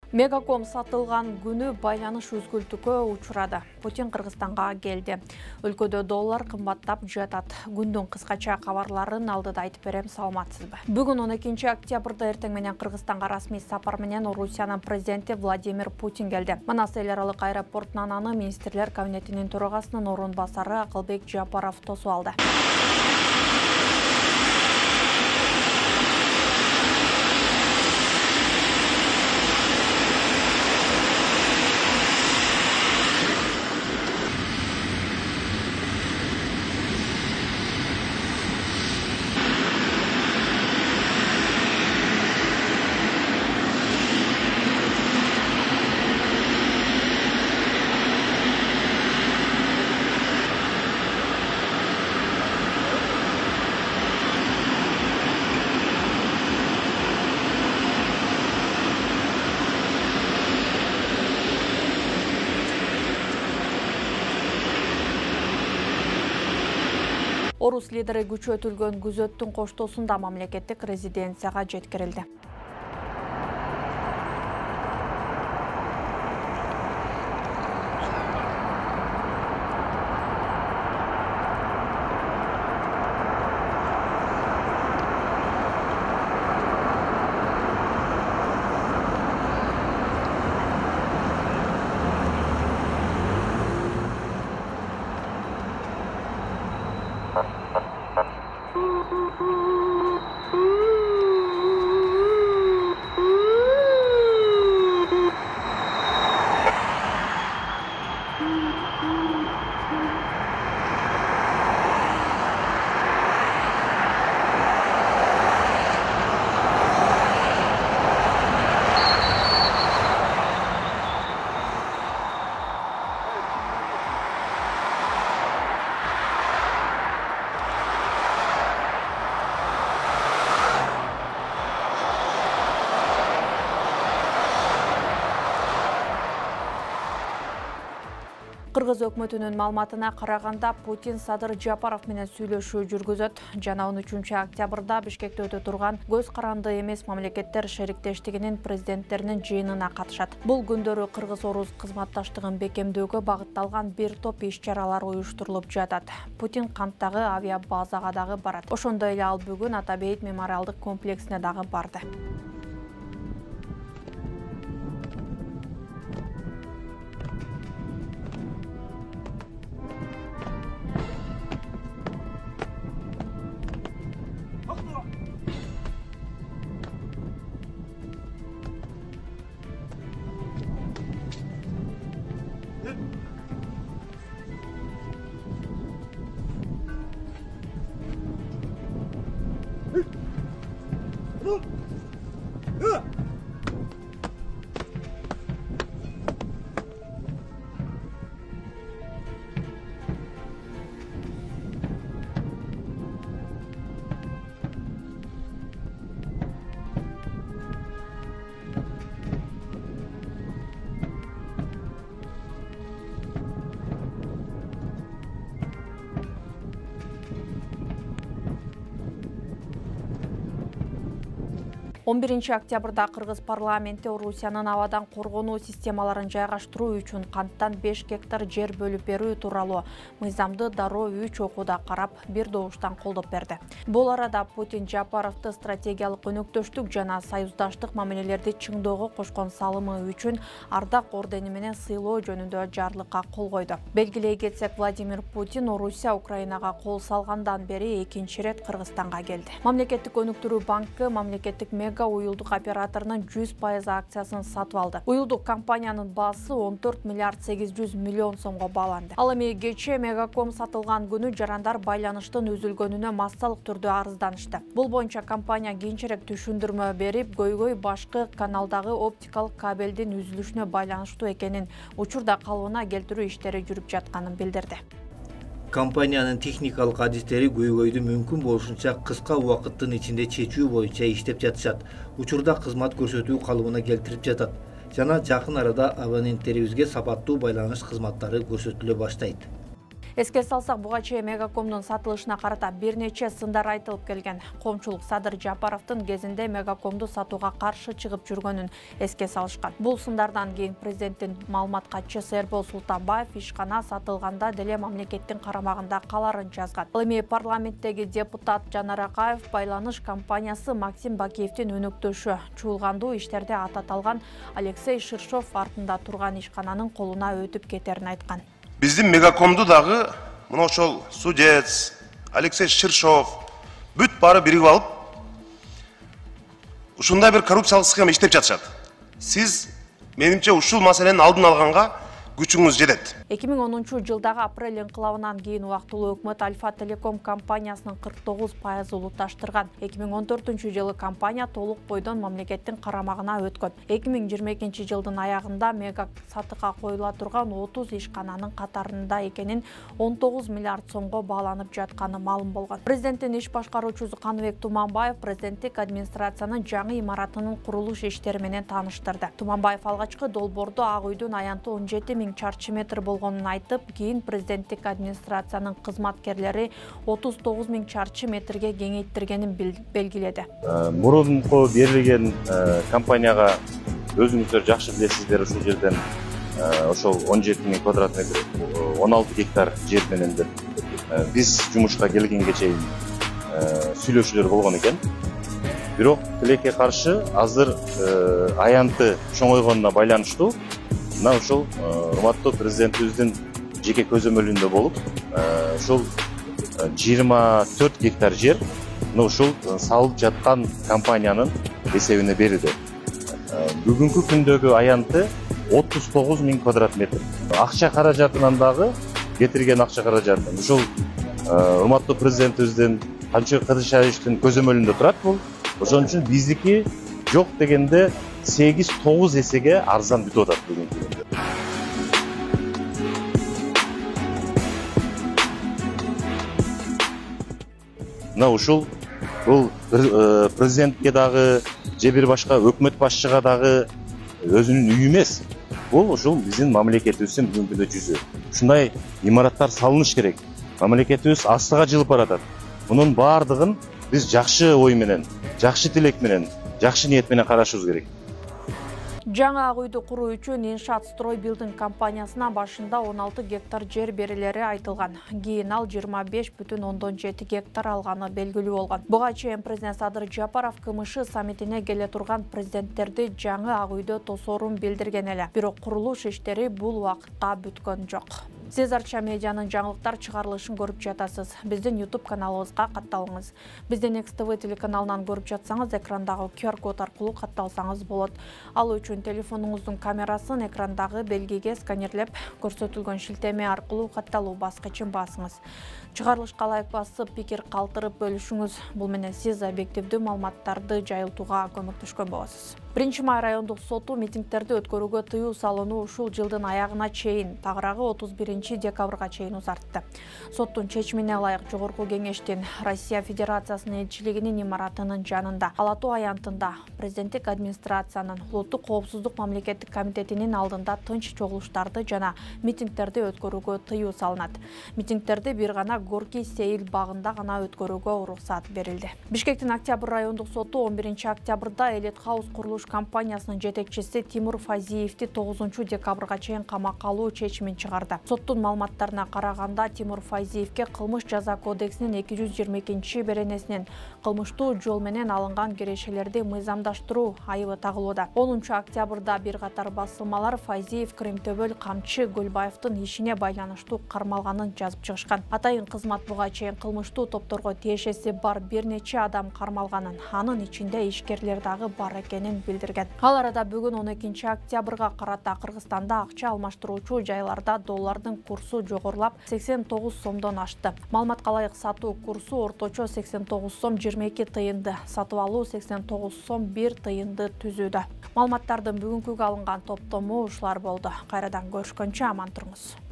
Мегаком сатылган күнү байланыш үзгүлтүүгө учурады. Путин Кыргызстанга келди. Өлкөдө доллар кымбаттап жатат. Күндүн кыскача кабарларын алдыда айтып берем, саламатсызбы? Бүгүн 12 октябрда эртең менен Кыргызстанга расмий сапар менен Орусиянын президенти Владимир Путин келди. Манас эл аралык аэропортунан аны министрлер кабинетинин төрагасынын орун басары Акылбек Жапаров тосуп алды. Орус лидери күчөтүлгөн күзөттүн коштоосунда мамлекеттик резиденцияга жеткирилди. Кыргыз өкмөтүнүн маалыматына караганда Путин Садыр Жапаров менен сүйлөшүү жүргүзөт. Жана 13 октябрда Бишкекте өтө турган көз каранды эмес мамлекеттер шериктештигинин президенттеринин жыйынына катышат. Бул күндөрү Кыргыз-Орус кызматташтыгын бекемдөөгө багытталган бир топ иш-чаралар уюштурулуп жатат. Путин Канттагы авиабазага дагы барат. Ошондой эле ал бүгүн Атабейит мемориалдык комплексине дагы барды. Он 11 октябрда Кыргыз парламенти Орусиянын абадан коргонуу системаларын жайгаштыруу үчүн канттан 5 гектар жер бөлүп берүү тууралуу мыйзамды дароо 3 окууда карап, бир добуштан колдоп берди. Бул арада Путин Жапаровду стратегиялык өнөктөштүк жана союздаштык мамилелерди чыңдоого кошкон салымы үчүн Ардак ордени менен сыйлоо жөнүндө жарлыкка кол койду. Белгилей кетсек, Владимир Путин Орусия Украинага кол салгандан бери экинчи ирет Кыргызстанга келди. Мамлекеттик өнүктүрүү банкы мамлекеттик уюлдук операторунун 100% акциясын сатып алды. Уюлдук компаниянын баасы 14 миллиард 800 миллион сомго бааланды. Ал эми кечээ Мегаком сатылган күнү жарандар байланыштын үзүлгөнүнө массалык түрдө арызданышты. Бул боюнча компания кийинчерээк түшүндүрмө берип, көйгөй башкы каналдагы оптикалык кабелдин үзүлүшүнө байланыштуу экенин, учурда калыбына келтирүү иштери жүрүп жатканын билдирди. Компаниянын техникалык адистери көйгөйдү мүмкүн болушунча кыска убакыттын ичинде чечүү боюнча иштеп жатышат. Учурда кызмат көрсөтүү калыбына келтирип жатат жана жакын арада абоненттерибизге сапаттуу байланыш кызматтары көрсөтүлө баштайт. Эске салсак, буга чейин Мегакомдун сатылышына карата бир нече сындар айтылып келген. Коомчулук Садыр Жапаровдун кезинде Мегакомду сатууга каршы чыгып жүргөнүн эске салышкан. Бул сындардан кийин президенттин маалымат катчысы Эрбол Султанбаев ишкана сатылганда деле мамлекеттин карамагында каларын жазган. Ал эми парламенттеги депутат Жанар Акаев байланыш компаниясы Максим Бакиевдин өнөктөшү чуулгандуу иштерде аты аталган Алексей Ширшов артында турган ишкананын колуна өтүп кетерин айткан. Биздин Мегакомду дагы мына ошол судец, Алексей Ширшов бүт баары биригип алып, ушундай бир коррупциялык схема иштеп жатышат. Сиз менимче ушул маселенин алдын алганга күчүңүз жетет. 2010-жылдагы апрель инкылабынан кийин убактылуу өкмөт Альфа Телеком компаниясынын 49% улутташтырган. 2014-жылы компания толук бойдон мамлекеттин карамагына өткөн. 2022-жылдын аягында Мега сатыкка коюла турган 30 ишкананын катарында экенин 19 миллиард сомго бааланып жатканы маалым болгон. Президенттин иш башкаруучусу Каныбек Туманбаев президенттик администрациянын жаңы имаратынын курулуш иштери менен тааныштырды. Туманбаев алгачкы долбоордо Ак үйдүн аянты 17 000 чарчы метр болгонун айтып, кийин президенттик администрациянын кызматкерлери 39 000 чарчы метрге кеңейттиргенин белгиледи. Мурунку берилген компанияга өзүңүздөр жакшы билесиздер, ушул жерден ошол 17 000 квадрат метр 16 гектар жер менен биз жумушка келгенге чейин сүйлөшүүлөр болгон экен. Бирок тилекке каршы азыр аянты чоңойгонуна байланыштуу мына ушул урматтуу президентибиздин жеке көзөмөлүндө болуп, ушул 24 гектар жер ушул салып жаткан компаниянын эсебине берилди. Бүгүнкү күндөгү аянты 39 000 квадрат метр. Акча каражатынан дагы кетирген акча каражаты ушул урматтуу президентибиздин Камчыбек Кадышевичтин көзөмөлүндө турат бул. Ошон үчүн биздики жок дегенде 8-9 эсеге арзан бүтүп атат бүгүнкү күндө. Мына ушул бул президентке дагы же бир башка өкмөт башчыга дагы өзүнүн үйү эмес. Бул ушул биздин мамлекетибиздин бүгүнкү күндө жүзү. Ушундай имараттар салыныш керек. Мамлекетибиз астыга жылып баратат. Мунун баардыгын биз жакшы ой менен, жакшы тилек менен, жакшы ниет менен карашыбыз керек. Жаңы Ак үйдү куруу үчүн Иншаат Строй Билдинг компаниясына башында 16 гектар жер берилери айтылган. Кийин ал 25,7 гектар алганы белгилүү болгон. Буга чейин президент Садыр Жапаров КМШ саммитине келе турган президенттерди жаңы Ак үйдө тосоорун билдирген эле. Бирок курулуш иштери бул убакытка бүткөн жок. Сиз Арча медианын жаңылыктар чыгарылышын көрүп жатасыз. Биздин YouTube каналыбызга катталыңыз. Биздин Next TV телеканалынан көрүп жатсаңыз, экрандагы QR-код аркылуу катталсаңыз болот. Ал үчүн телефонуңуздун камерасын экрандагы белгиге сканерлеп, көрсөтүлгөн шилтеме аркылуу катталуу баскычын басыңыз. Чыгарылышка лайк басып, пикир калтырып бөлүшүңүз. Бул менен сиз объективдүү маалыматтарды жайылтууга көмөктөшкөн болосуз. 1-май райондук соту митингдерди өткөрүүгө тыюу салууну ушул жылдын аягына чейин, тагыраагы 31-декабрга чейин узартты. Соттун чечимине ылайык Жогорку кеңештин Россия Федерациясынын элчилигинин имаратынын жанында, Ала Тоо аянтында, президенттик администрациянын улуттук коопсуздук мамлекеттик комитетинин алдында тынч чогулуштарды жана митингдерди өткөрүүгө тыюу салынат. Митингдерди бир гана Горький Сейил багында гана өткөрүүгө уруксат берилди. Бишкектин Октябрь райондук соту 11-октябрда Элит Хаус курулуш компаниясынын жетекчиси Тимур Файзиевди 9-декабрга чейин камакка алуу чечимин чыгарды. Соттун маалыматтарына караганда, Тимур Файзиевге кылмыш жаза кодексинин 222-беренесинен кылмыштуу жол менен алынган кирешелерди мыйзамдаштыруу айыбы тагылууда. 10-октябрда бир катар басылмалар Файзиев Кремтөбөл Камчы Гөлбаевдин ишине байланыштуу кармалганын жазып чыгышкан. Атайын кызмат буга чейин кылмыштуу топторго тиешеси бар бир нече адам кармалганын, анын ичинде ишкерлер дагы бар экенин билдирген. Ал арада бүгүн 12-октябрга карата Кыргызстанда акча алмаштыруучу жайларда доллардын курсу жогорулап 89 сомдон ашты. Маалыматка ылайык сатуу курсу орточо 89 сом 22 тыйынды, сатып алуу 89 сом 1 тыйынды түзүүдө. Маалыматтардын бүгүнкүгө алынган топтому ушулар болду. Кайрадан көрүшкөнчө аман туруңуз.